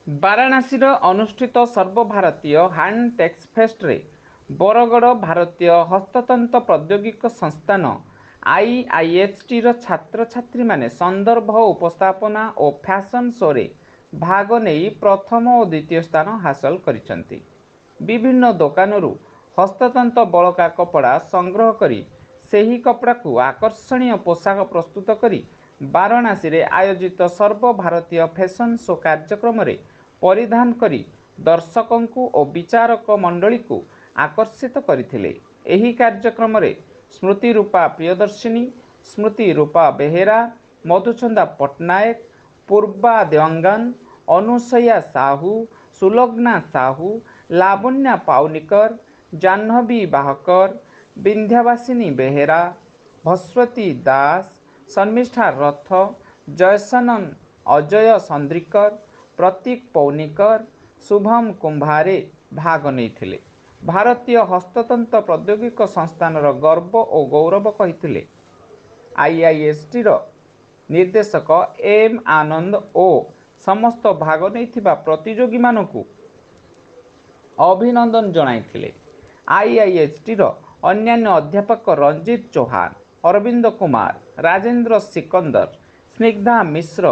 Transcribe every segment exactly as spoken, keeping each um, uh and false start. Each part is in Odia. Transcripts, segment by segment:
ବାରାଣାସୀର ଅନୁଷ୍ଠିତ ସର୍ବଭାରତୀୟ ହ୍ୟାଣ୍ଡଟେକ୍ସ ଫେଷ୍ଟରେ ବରଗଡ଼ ଭାରତୀୟ ହସ୍ତତନ୍ତ ପ୍ରୌଦ୍ୟୋଗିକ ସଂସ୍ଥାନ ଆଇଆଇଏଚ୍ଟିର ଛାତ୍ରଛାତ୍ରୀମାନେ ସନ୍ଦର୍ଭ ଉପସ୍ଥାପନା ଓ ଫ୍ୟାସନ୍ ଶୋରେ ଭାଗ ନେଇ ପ୍ରଥମ ଓ ଦ୍ୱିତୀୟ ସ୍ଥାନ ହାସଲ କରିଛନ୍ତି। ବିଭିନ୍ନ ଦୋକାନରୁ ହସ୍ତତନ୍ତ ବଳକା କପଡ଼ା ସଂଗ୍ରହ କରି ସେହି କପଡ଼ାକୁ ଆକର୍ଷଣୀୟ ପୋଷାକ ପ୍ରସ୍ତୁତ କରି ବାରାଣାସୀରେ ଆୟୋଜିତ ସର୍ବଭାରତୀୟ ଫ୍ୟାସନ୍ ଶୋ କାର୍ଯ୍ୟକ୍ରମରେ ପରିଧାନ କରି ଦର୍ଶକଙ୍କୁ ଓ ବିଚାରକ ମଣ୍ଡଳୀକୁ ଆକର୍ଷିତ କରିଥିଲେ। ଏହି କାର୍ଯ୍ୟକ୍ରମରେ ସ୍ମୃତି ରୂପା ପ୍ରିୟଦର୍ଶିନୀ, ସ୍ମୃତି ରୂପା ବେହେରା, ମଧୁଛନ୍ଦା ପଟ୍ଟନାୟକ, ପୂର୍ବା ଦେୱାଙ୍ଗନ, ଅନୁସୟା ସାହୁ, ସୁଲଗ୍ନା ସାହୁ, ଲାବଣ୍ୟା ପାଉନିକର, ଜାହ୍ନବୀ ବାହକର, ବିନ୍ଧ୍ୟାବାସିନୀ ବେହେରା, ଭସ୍ୱତୀ ଦାସ, ଶର୍ମିଷ୍ଠା ରଥ, ଜୟସନନ ଅଜୟ ସନ୍ଦ୍ରିକର, ପ୍ରତୀକ ପୌନିକର, ଶୁଭମ କୁମ୍ଭାରେ ଭାଗ ନେଇଥିଲେ। ଭାରତୀୟ ହସ୍ତତନ୍ତ ପ୍ରୌଦ୍ୟୋଗିକ ସଂସ୍ଥାନର ଗର୍ବ ଓ ଗୌରବ କହିଥିଲେ ଆଇଆଇଏଚ୍ଟିର ନିର୍ଦ୍ଦେଶକ ଏମ୍ ଆନନ୍ଦ ଓ ସମସ୍ତ ଭାଗ ନେଇଥିବା ପ୍ରତିଯୋଗୀମାନଙ୍କୁ ଅଭିନନ୍ଦନ ଜଣାଇଥିଲେ। ଆଇଆଇଏଚ୍ଟିର ଅନ୍ୟାନ୍ୟ ଅଧ୍ୟାପକ ରଞ୍ଜିତ ଚୌହାନ, ଅରବିନ୍ଦ କୁମାର, ରାଜେନ୍ଦ୍ର ସିକନ୍ଦର, ସ୍ନିଗ୍ଧା ମିଶ୍ର,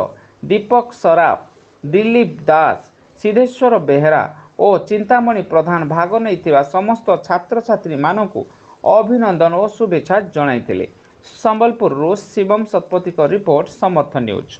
ଦୀପକ ସରାଫ, ଦିଲ୍ଲୀପ ଦାସ, ସିଦ୍ଧେଶ୍ୱର ବେହେରା ଓ ଚିନ୍ତାମଣି ପ୍ରଧାନ ଭାଗ ନେଇଥିବା ସମସ୍ତ ଛାତ୍ରଛାତ୍ରୀମାନଙ୍କୁ ଅଭିନନ୍ଦନ ଓ ଶୁଭେଚ୍ଛା ଜଣାଇଥିଲେ। ସମ୍ବଲପୁରରୁ ଶିବମ ଶତପଥୀଙ୍କ ରିପୋର୍ଟ, ସମର୍ଥ ନ୍ୟୁଜ୍।